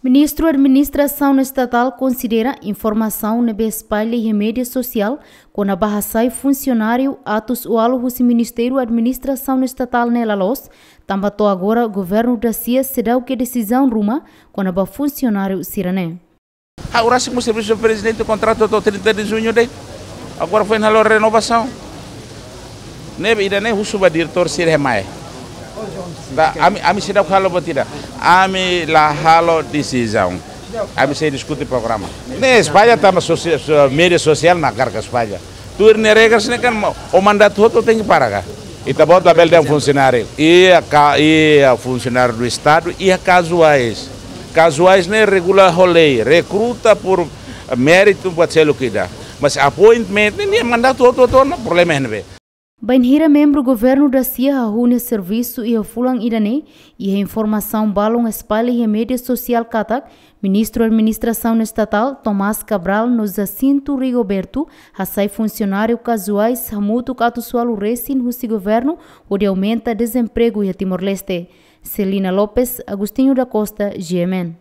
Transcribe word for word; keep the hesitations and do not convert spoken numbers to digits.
Ministru Administrasaun Estatál konsidera informasaun ne'ebé espalla iha média sosiál kona-ba hasai funsionáriu atus ualu husi Ministériu Administrasaun Estatál ne'e la loos, tanba to'o agora governu dasia seidauk iha desizaun ruma kona-ba funsionáriu sira-ne'e. Ha'u rasik mós servisu prezidente, kontratu to'o trinta de junho de'it. Agora foin halo renovasaun. Ne'ebé ida-ne'e husu ba diretór sira mai. Ami, ami seidauk halo buat ida. Ami la halo desizaun. Ami sei diskute programa. Ne'e espalla tanba sosia-, so-, média sosiál mak hakarak espalla. Tuir nia regras ne'e kan, o mandatu hotu tenke para ka. Ita-boot labele dehan funsionáriu. Iha ka, iha funsionáriu do Estadu, iha kazuais. Kazuais ne'e regula ho lei, rekruta por méritu buat seluk ida. Mas appointment ne'e, nia mandatu hotu-hotu ona, problema iha ne'ebé. Bainhira membru governu dasia hahú nia servisu iha fulan ida-ne'e, iha informasaun balun espalla iha média sosiál katak Ministru Administrasaun Estatál Tomás Cabral no Jacinto Rigoberto hasai funsionáriu kazuais hamutuk atus ualu resin husi governu hodi aumenta dezempregu iha Timor-Leste. Celina Lopes, Agostinho da Costa, G M N.